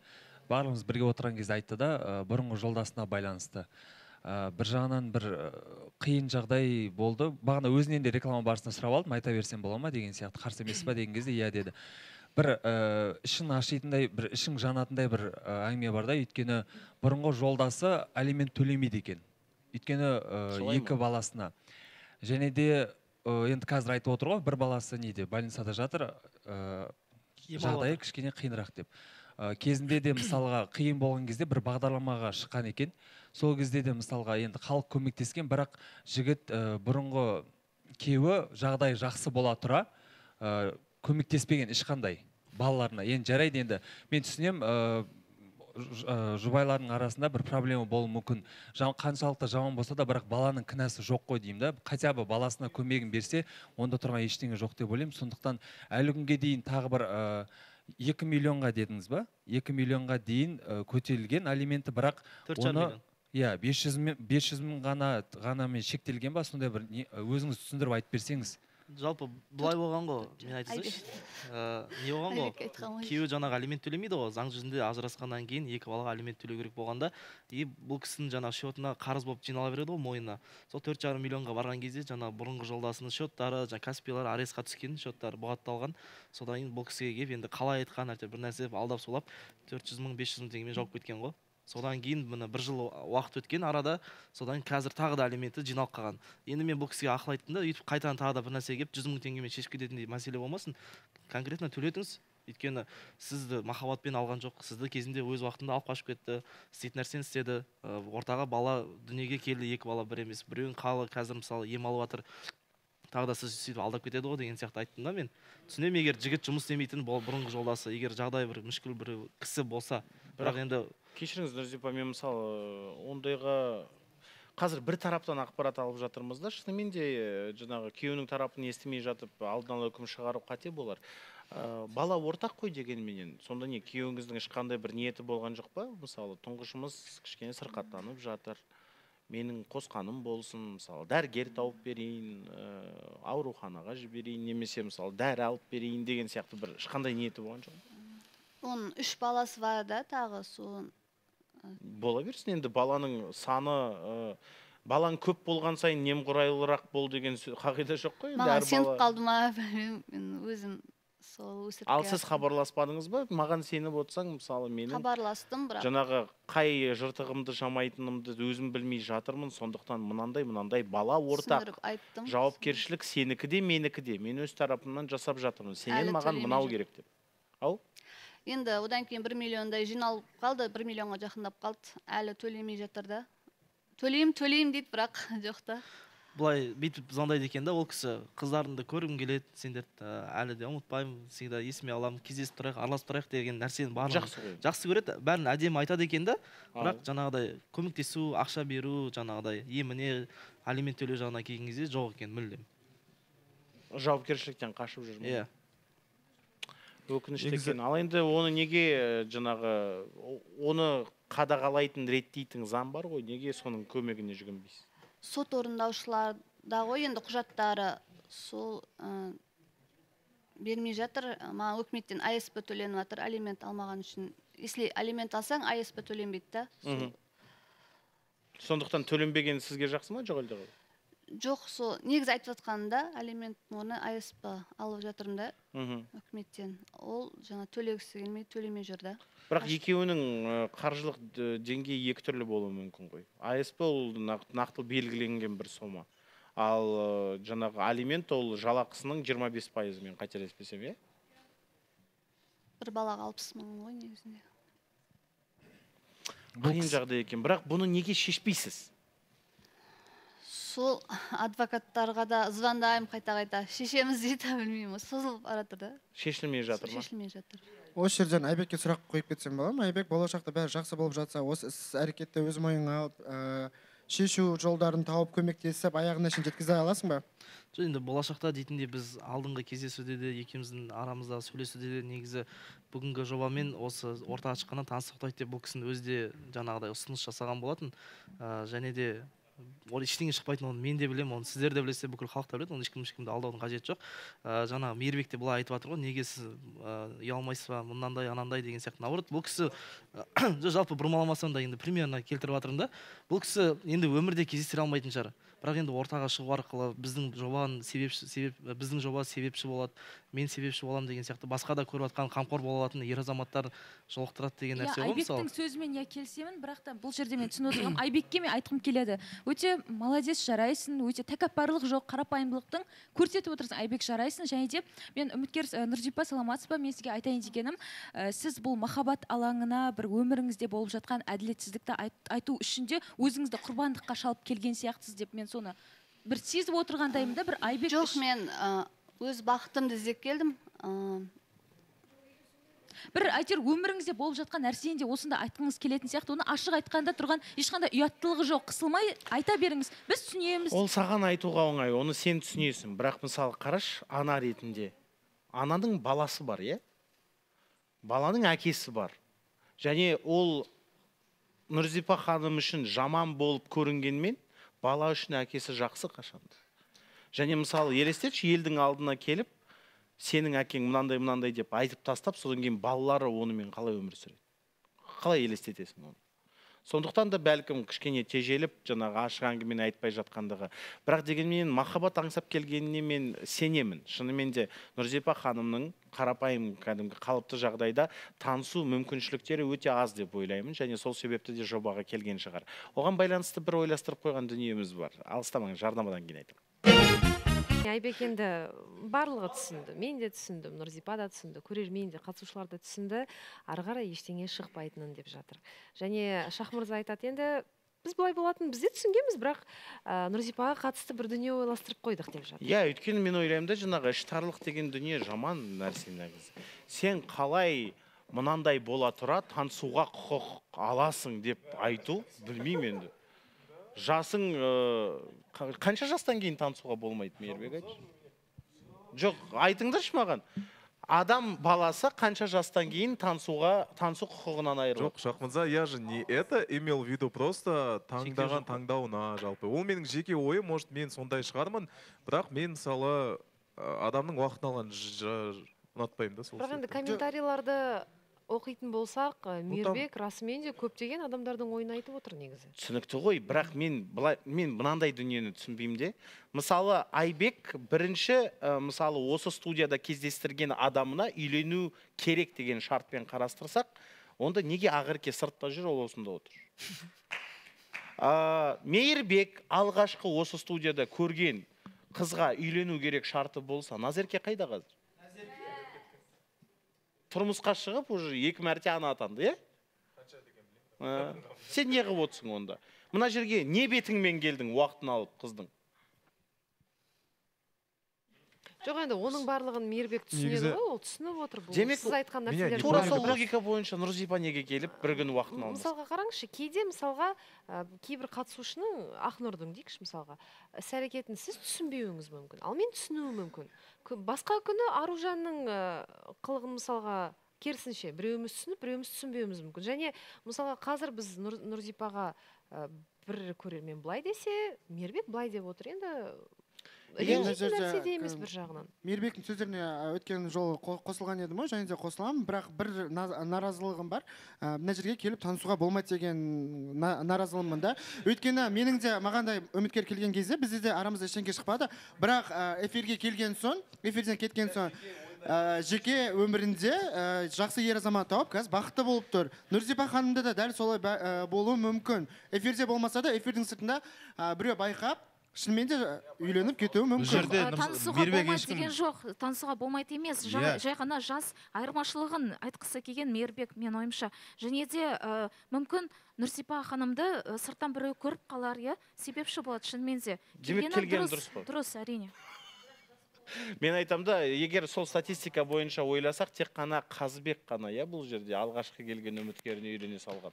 барлығымыз бірге отырған кезде айтты да, бұрынғы жолдасына байланысты. Бір жағынан бір қиын жағдай болды. Бағана өзінен де реклама барысында сұрап алдым, айта берсем бола ма деген сияқты, қарсы емес па деген кезде иә деді. Бір ішін ашитындай, бір ішің жанатындай бір әңгіме бар да, өйткені бұрынғы жолдасы алимент төлемейді екен. Өйткені екі баласына. Және де енді қазір айтып отыр ғой, бір баласы неде, больницада жатыр, жағдайы кішкене қиынырақ деп. Кезінде де мысалға қиын болған кезде бір бағдарламаға шыққан екен. Сол кезде де мысалға енді халық көмектескен, бірақ жігіт бұрынғы күйеуі жағдай жақсы бола тұра көмектеспеген ешқандай балаларына. Енді жарайды, енді мен түсінем, жұбайлардың арасында бір проблема болуы мүмкін. Қаншалықты жаман болса да, бірақ баланың кінәсі жоқ қой деймін да. Хотя бы баласына көмегін берсе, онда тұрған ештеңе жоқ деп ойлаймын. Сондықтан әлі күнге дейін тағы бір 2 миллионға дедіңіз ба? 2 миллионға дейін көтерілген алименті, бірақ оны 500 мың ғана мен шектелген ба? Сондай бір өзіңіз түсіндіріп айтып берсеңіз. Жалпы былай болған ғой, мен айтсайшы. Не болған ғой? Күйеуі жаңағы алимент төлемейді ғой. Заң жүзінде ажырасқаннан кейін 2 балаға алимент төлеу керек болғанда, бұл кісінің жаңағы счетына қарыз болып жинала береді ғой мойнына. Сол 4,5 миллионға барған кезде жаңағы бұрынғы жолдасының счеттары, Каспийлар арестқа түскен, счеттары бұғатталған. Содан кейін бұл кісіге келіп енді қалай айтқан, бір нәрсе алдап солап 400 мың, 500 мың теңгемен жауып кеткен ғой. Содан кейін міне 1 жыл уақыт өткен арада, содан қазір тағы да алименті жиналып қалған. Енді мен бұл кісіге ақыл айттым да, өйтіп қайтадан тағы да бір нәрсе келіп 100 мың теңгемен шешіп кететіндей мәселе болмасын. Конкретно төлетіңіз. Өйткені сізді махаббатпен алған жоқ, сізді кезінде өз уақытында алып қашып кетті, істейтін нәрсені істеді. Ортаға бала дүниеге келді, 2 бала бір емес. Біреуін қалы қазір мысалы ем алып жатыр. Тағы да сіз сөйтіп алдап кетеді ғой деген сияқты айттым да мен. Түсінемін, егер жігіт жұмыс істемейтін бұрынғы жолдасы, егер жағдай бір мүшкіл бір кісі болса, бірақ енді кешіріңіз Нұрзипа, мен мысалы ондайға қазір бір тараптан ақпарат алып жатырмыз да, шынымен де жаңағы күйеуінің тарапын естімей жатып алдын ала үкім шығару қате болар. Бала ортақ қой дегенменен, сонда не күйеуіңіздің ешқандай бір ниеті болған жоқ па? Мысалы тұңғышымыз кішкене сырқаттанып жатыр, менің қосқаным болсын, мысалы дәрігер тауып берейін, ауруханаға жіберейін, немесе мысалы дәрі алып берейін деген сияқты бір ешқандай ниеті болған жоқ? Оның 3 баласы бар да, тағы соның. Бола берсін, енді баланың саны, балаң көп болған сайын немқұрайлырақ бол деген қағида жоқ қой? Маған сеніп қалды ма, мен өзім сол өсіріп. Ал сіз хабарласпадыңыз ба? Маған сеніп отырсаң, мысалы менің хабарластым, бірақ жаңағы қай жыртығымды жамайтынымды өзім білмей жатырмын, сондықтан мынандай бала ортақ. Жауапкершілік сенікі де, менікі де. Мен өз тарапымнан жасап жатырмын. Сенен маған мынау керек деп. Ау? Енді одан кейін 1 миллиондай жиналып қалды, 1 миллионға жақындап қалды. Әлі төлемей жатыр да. Төлейм дейді, бірақ жоқ та. Бұлай бүйтіп звондайды екен да, ол кісі қыздарымды көргім келеді, сендерді әлі де ұмытпаймын, всегда есіме аламын, кездесіп тұрайық, араласып тұрайық деген нәрсені барлығын жақсы көреді. Бәрін әдемі айтады екен да, бірақ жаңағыдай көмектесу, ақша беру, жаңағыдай еміне, алимент төлеу жағына келген кезде жоқ екен мүлдем. Жауапкершіліктен қашып жүр ме? Өкінішті екен. Ал енді оны неге жаңағы оны қадағалайтын реттейтін заң бар ғой, неге соның көмегіне жүгінбейсіз? Сот орындаушылар ғой енді құжаттары сол бермей жатыр. Маған өкіметтен АСП төленіп жатыр алимент алмаған үшін. Если алимент алсаң, АСП төленбейді да. Сондықтан төленбеген сізге жақсы ма, жоқ әлде? Жоқ, сол негізі айтып жатқанында алимент оны АСП алып жатырмын да өкіметтен. Ол жаңа төлегісі келмей, төлемей жүр да. Бірақ екеуінің қаржылық деңгейі екі түрлі болуы мүмкін ғой. АСП ол нақты белгіленген бір сома. Ал жаңағы алимент ол жалақысының 25%-мен қателеспесем, е? Бір балаға 60 мың ғой негізінде. Қиын жағдай екен, бірақ бұны неге шешпейсіз? Сол адвокаттарға да звондаймын қайта-қайта. Шешеміз дейді, білмеймін, созылып баратыр да. Шешілмей жатыр ма? Шешілмей жатыр. Осы жерден Айбекке сұрақ қойып кетсем бола ма? Айбек, болашақта бәрі жақсы болып жатса, осы іс-әрекетті өз мойныңа алып, шешу жолдарын тауып көмектесіп аяғына шейін жеткізе аласың ба? Енді болашақта дейтінде біз алдыңғы кездесуде де екеуміздің арамызда сөйлесуде де негізі бүгінгі жобамен осы орта ашқаннан таныстыртайық деп бұл кісінің өзі де жаңағыдай ұсыныс жасаған болатын. Және де ештеңе шықпайтын, оны мен де білемін, оны сіздер де білесіздер, бүкіл халық та біледі, оны ешкімді алдаудың қажеті жоқ. Жаңа Мейірбек те былай айтып жатыр ғой, неге сіз ұялмайсыз ба, мынандай анандай деген сияқты. Наоборот, бұл кісі жалпы бұрмаламасам да енді примерно келтіріп жатырмын да. Бұл кісі енді өмірде кездестіре алмайтын шығар. Бірақ енді ортаға шығу арқылы біздің жоба себепші болады, мен себепші боламын деген сияқты, басқа да көріп жатқан қамқор бола алатын ер азаматтар жолықтырады деген нәрсе ғой мысалы. Айбектің сөзімен келісемін, бірақ та бұл жерде мен түсініп отырмын. Айбекке мен айтқым келеді. Өте молодец, жарайсың, өте тәкаппарлық жоқ, қарапайымдылықтың көрсетіп отырсың. Айбек, жарайсың. Және де мен үміткер Нұрзипа, саламатсыз ба? Мен сізге айтайын дегенім, сіз бұл махаббат алаңына бір өміріңізде болып жатқан әділетсіздікті айту үшін де өзіңізді құрбандыққа шалып келген сияқтысыз деп мен соны бір сезіп отырғандаймын да, бір Айбек. Жоқ, мен өз бақытымды іздеп келдім. Бір әйтеуір өміріңізде болып жатқан нәрсені де осында айтқыңыз келетін сияқты, оны ашық айтқанда тұрған ешқандай ұяттылығы жоқ, қысылмай айта беріңіз. Біз түсінеміз. Ол саған айтуға оңай, оны сен түсінесің. Бірақ мысалы қараш, ана ретінде. Ананың баласы бар, е? Баланың әкесі бар. Және ол Нұрзипа ханым үшін жаман болып көрінгенмен, бала үшін әкесі жақсы қашанды. Және мысалы елестетші, елдің алдына келіп, сенің әкең мынандай деп айтып тастап, содан кейін балалары онымен қалай өмір сүреді? Қалай елестетесің оны? Сондықтан да бәлкім кішкене тежеліп, жаңағы ашық әңгімені айтпай жатқандығы. Бірақ дегенмен махаббат аңсап келгеніне мен сенемін. Шынымен де Нұрзипа ханымның қарапайым кәдімгі қалыпты жағдайда танысу мүмкіншіліктері өте аз деп ойлаймын, және сол себепті де жобаға келген шығар. Оған байланысты бір ойластырып қойған дүниеміз бар. Алыстамаңыз, жарнамадан кейін айтамын. Айбек енді барлығы түсінді, мен де түсіндім, Нұрзипа да түсінді, көрермен де, қатысушылар да түсінді, ары қарай ештеңе шықпайтынын деп жатыр. Және Шахмырза айтады, енді біз былай болатын, біз де түсінгенбіз, бірақ Нұрзипаға қатысты бір дүние ойластырып қойдық деп жатыр. Иә, өйткені мен ойлаймын да, жаңағы іштарлық деген дүние жаман нәрсе негізі. Сен қалай мынандай бола тұра танысуға құқық аласың деп айту, білмеймін енді. Жасың қанша жастан кейін танысуға болмайды, Мейірбек айтшы? Жоқ, айтыңдаршы маған. Адам баласы қанша жастан кейін танысу құқығынан айырылады? Жоқ, Шахмырза, я же не это имел в виду, просто таңдаған таңдауына жалпы. Ол менің жеке ойым, может, мен сондай шығармын, бірақ мен мысалы адамның уақытын алған ұнатпаймын да сол. Бірақ енді комментарийларды оқитын болсақ, Мейірбек расымен де көптеген адамдардың ойын айтып отыр негізі. Түсінікті ғой, бірақ мен мынандай дүниені түсінбеймін де. Мысалы, Айбек бірінші, мысалы, осы студияда кездестірген адамына үйлену керек деген шартпен қарастырсақ, онда неге Ақерке сыртта жүр, ол осында отыр? Мейірбек алғашқы осы студияда көрген қызға үйлену керек шарты болса, Назерке қайда қазір? Тұрмысқа шығып, уже 2 мәрте ана атанды, е? Сен не қылып отырсың онда? Мына жерге не бетіңмен келдің уақытын алып қыздың? Жоқ, енді оның барлығын Мейірбек түсінеді ғой, ол түсініп отыр. Демек, сіз айтқан нәрселер. тура сол логика бойынша Нұрзипа неге келіп бір күн уақытын алмас? Мысалға қараңызшы, кейде мысалға кейбір қатысушының, Ақнұрдың дейікші мысалға, іс-әрекетін сіз түсінбеуіңіз мүмкін, ал мен түсінуім мүмкін. Басқа күні Аружанның қылығын мысалға керісінше біреуіміз түсініп, біреуіміз түсінбеуіміз мүмкін. Және мысалға қазір біз Нұрзипаға бір көрермен былай десе, Мейірбек былай деп отыр. Енді ренжитін нәрсе де емес бір жағынан. Мейірбектің сөздеріне өткен жолы қосылған едім ғой, және де қосыламын, бірақ бір наразылығым бар. Мына жерге келіп танысуға болмайды деген наразылығым да. Өйткені менің де мағандай үміткер келген кезде бізде де арамызда ештеңе шықпады. Бірақ эфирге келген соң, эфирден кеткен соң жеке өмірінде жақсы ер азамат тауып, қазір бақытты болып тұр. Нұрзипа ханымда да дәл солай болуы мүмкін. Эфирде болмаса да, эфирдің сыртында біреу байқап, шынымен де үйленіп кетуі мүмкін. Танысуға болмайды деген жоқ, танысуға болмайды емес. Жай ғана жас айырмашылығын айтқысы келген Мейірбек, мен ойымша. Және де мүмкін Нұрсипа ханымды сырттан біреу көріп қалар, себепші болады шынымен де. Келгені дұрыс қой. Дұрыс, әрине. Мен айтам да, егер сол статистика бойынша ойласақ, тек қана Қазыбек қана, бұл жерде алғашқы келген үміткеріне үйлене салған.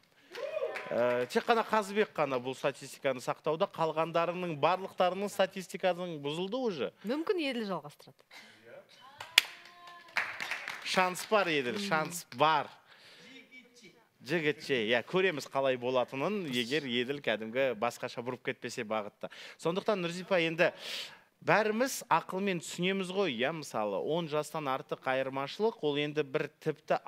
Тек қана Қазыбек қана бұл статистиканы сақтауда, қалғандарының барлықтарының статистиканың бұзылды уже. Мүмкін Еділ жалғастырады. Шанс бар, Еділ, шанс бар. Жігітше, көреміз қалай болатынын, егер Еділ кәдімгі басқаша бұрып кетпесе бағытта. Сондықтан Нұрзипа енді бәріміз ақылмен түсінеміз ғой, мысалы 10 жастан артық айырмашылық, ол енді бір тіпті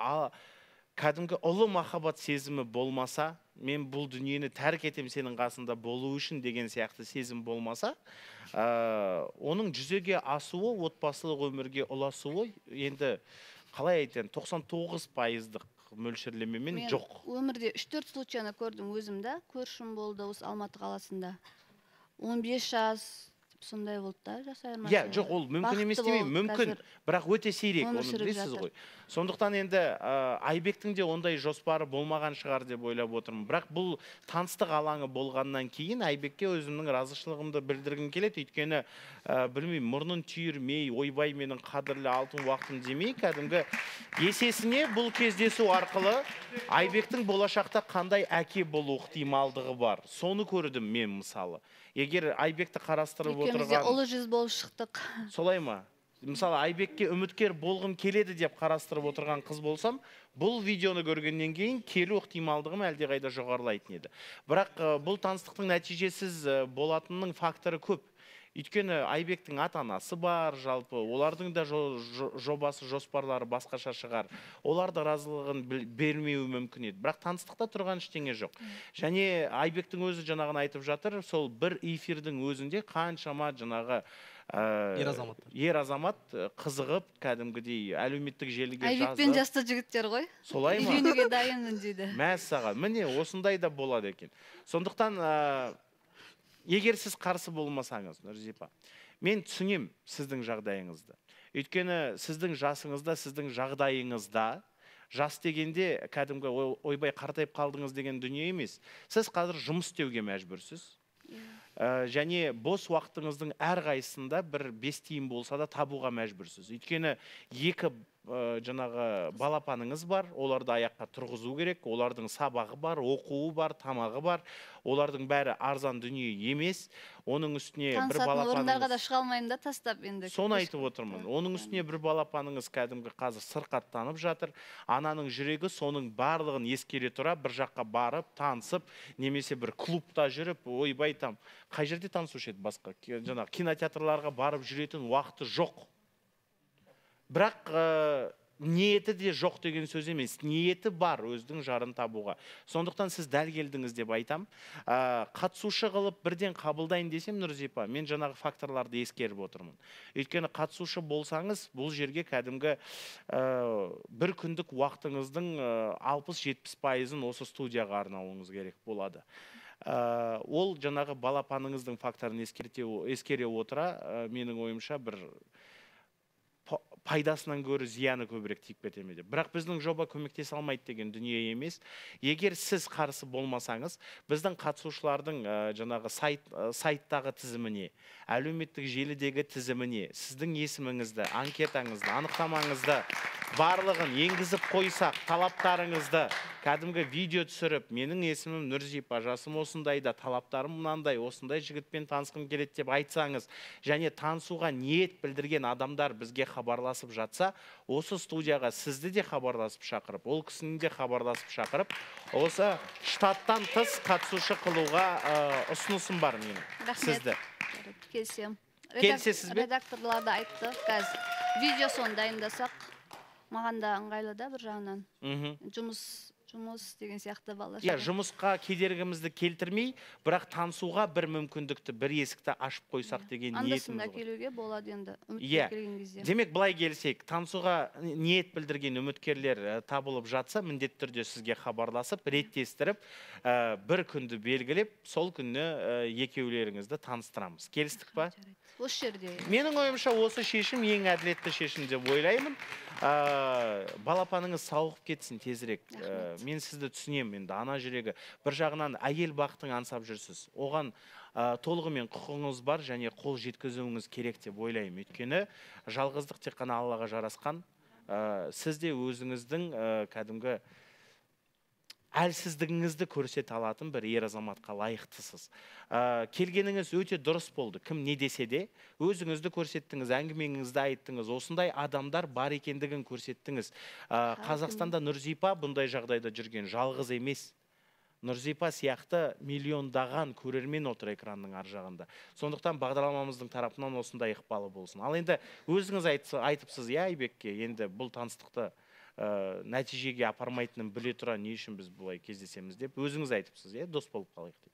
кәдімгі ұлы махаббат сезімі болмаса, мен бұл дүниені тәрк етем сенің қасында болу үшін деген сияқты сезім болмаса, оның жүзеге асуы, отбасылық өмірге ұласуы, енді қалай айтайын, 99%-дық мөлшерлемемен жоқ. Өмірде 3-4 случайны көрдім өзімді, көршім болды осы Алматы қаласында. 15 жас сондай болды да, жас айырмашылығы. Жоқ, ол мүмкін емес демеймін, мүмкін, бірақ өте сирек, оны білесіз ғой. Сондықтан енді Айбектің де ондай жоспары болмаған шығар деп ойлап отырмын. Бірақ бұл таныстық алаңы болғаннан кейін Айбекке өзімнің разышылығымды білдіргім келеді. Өйткені білмеймін, мұрнын түйірмей, ойбай менің қадірлі алтын уақытым демей, кәдімгі есесіне бұл кездесу арқылы Айбектің болашақта қандай әке болу ықтималдығы бар. Соны көрдім мен мысалы. Егер Айбекті қарастырып отырған... Екеумізде ұлы жүз болып шықтық. Солай ма? Мысалы, Айбекке үміткер болғым келеді деп қарастырып отырған қыз болсам, бұл видеоны көргеннен кейін келу ықтималдығым әлдеқайда жоғарылайтын еді. Бірақ бұл таныстықтың нәтижесіз болатынның факторы көп. Өйткені Айбектің ата-анасы бар, жалпы олардың да жобасы, жоспарлары басқаша шығар. Олар да разылығын бермеуі мүмкін еді. Бірақ таныстықта тұрған ештеңе жоқ. Және Айбектің өзі жаңағын айтып жатыр, сол бір эфирдің өзінде қаншама жаңағы ер азамат қызығып, кәдімгідей әлеуметтік желіге жазып. Айбекпен жасты жігіттер ғой. Солай ма? Үйленуге дайынмын дейді. Мәссаған, міне осындай да болады екен. Сондықтан егер сіз қарсы болмасаңыз, Нұрзипа, мен түсінем сіздің жағдайыңызды. Өйткені сіздің жасыңызда, сіздің жағдайыңызда, жас дегенде кәдімгі ойбай қартайып қалдыңыз деген дүние емес. Сіз қазір жұмыс істеуге мәжбүрсіз. Және бос уақытыңыздың әрқайсысында бір 5 тиын болса да табуға мәжбүрсіз. Өйткені екі жаңағы балапаныңыз бар, оларды аяққа тұрғызу керек, олардың сабағы бар, оқуы бар, тамағы бар, олардың бәрі арзан дүние емес. Оның үстіне бір балапаныңыз... орындарға да шыға алмаймын да тастап енді. Соны айтып отырмын. Оның үстіне бір балапаныңыз кәдімгі қазір сырқаттанып жатыр. Ананың жүрегі соның барлығын ескере тұра, бір жаққа барып, танысып, немесе бір клубта жүріп, ойбай там, қай жерде танысушы еді басқа? Жаңағы кинотеатрларға барып жүретін уақыты жоқ. Бірақ ниеті де жоқ деген сөз емес. Ниеті бар өздің жарын табуға. Сондықтан сіз дәл келдіңіз деп айтам. Қатысушы қылып бірден қабылдайын десем, Нұрзипа, мен жаңағы факторларды ескеріп отырмын. Өйткені қатысушы болсаңыз, бұл жерге кәдімгі бір күндік уақытыңыздың 60-70%-ын осы студияға арнауыңыз керек болады. Ол жаңағы балапаныңыздың факторын ескере отыра, менің ойымша бір пайдасынан көрі зияны көбірек тиіп кетемеді. Бірақ біздің жоба көмектесе алмайды деген дүние емес. Егер сіз қарсы болмасаңыз, біздің қатысушылардың жаңағы сайттағы тізіміне, әлеуметтік желідегі тізіміне, сіздің есіміңізді, анкетаңызды, анықтамаңызды, барлығын енгізіп қойсақ, талаптарыңызды кәдімгі видео түсіріп, менің есімім Нұрзипа, жасым осындайда, талаптарым мынандай, осындай жігітпен танысқым келеді деп айтсаңыз, және танысуға ниет білдірген адамдар бізге хабарласып жатса, осы студияға сізді де хабарласып шақырып, ол кісіні де хабарласып шақырып, осы штаттан тыс қатысушы қылуға ұсынысым бар менің сізді. Келсем. Келсесіз бе? Редакторлар да айтты, қазір видеосын дайындасақ, маған да ыңғайлы да бір жағынан. Жұмыс деген сияқты балаша. Жұмысқа кедергімізді келтірмей, бірақ танысуға бір мүмкіндікті, бір есікті ашып қойсақ деген ниетіміз бар. Андасында келуге болады енді, үміткер келген кезде. Демек, былай келсек, танысуға ниет білдірген үміткерлер табылып жатса, міндетті түрде сізге хабарласып, реттестіріп, бір күнді белгілеп, сол күні екеулеріңізді таныстырамыз. Келістік па? Осы жерде. Менің ойымша осы шешім ең әділетті шешім деп ойлаймын. Балапаныңыз сауығып кетсін тезірек. Мен сізді түсінемін енді, ана жүрегі. Bir жағынан әйел бақытын аңсап жүрсіз. Оған толығымен құқығыңыз бар және қол жеткізуіңіз керек деп ойлаймын. Өйткені жалғыздық тек қана Аллаға жарасқан. Сіз де өзіңіздің кәдімгі әлсіздігіңізді көрсете алатын бір ер азаматқа лайықтысыз. Келгеніңіз өте дұрыс болды. Кім не десе де, өзіңізді көрсеттіңіз, әңгімеңізді айттыңыз, осындай адамдар бар екендігін көрсеттіңіз. Қазақстанда Нұрзипа бұндай жағдайда жүрген жалғыз емес. Нұрзипа сияқты миллиондаған көрермен отыр экранның ар жағында. Сондықтан бағдарламамыздың тарапынан осындай ықпалы болсын. Ал енді өзіңіз айтыпсыз, Айбекке, енді бұл таныстықты нәтижеге апармайтынын біле тұра не үшін біз бұлай кездесеміз деп өзіңіз айтыпсыз, дос болып қалайық деп.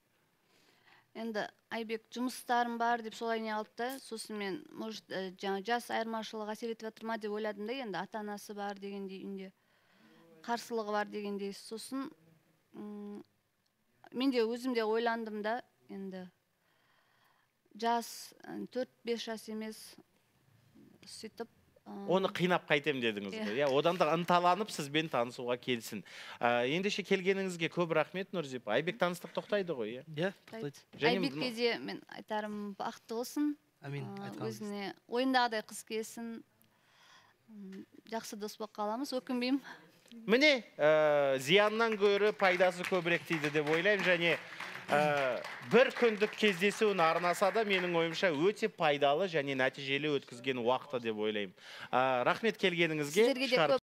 Енді Айбек жұмыстарым бар деп солай не алды, сосын мен жас айырмашылығы әсер етіп жатыр ма деп ойладым да, енді ата-анасы бар дегендей үйінде, қарсылығы бар дегендей. Сосын мен де өзім де ойландым да, енді жас 4-5 жас емес, сөйтіп Оны қинап қайтем дедіңіз ғой. Одан да ынталанып сізбен танысуға келсін. Ендеше келгеніңізге көп рахмет, Нұрзипа. Айбек таныстық тоқтайды ғой, тоқтайды. Айбекке де мен айтарым бақытты болсын. Өзіне ойындағыдай қыз келсін. Жақсы дос болып қаламыз, өкінбеймін. Міне, зияннан гөрі пайдасы көбірек дейді деп ойлаймын, және бір күндік кездесуін арнаса да менің ойымша өте пайдалы және нәтижелі өткізген уақыты деп ойлаймын. Рахмет келгеніңізге.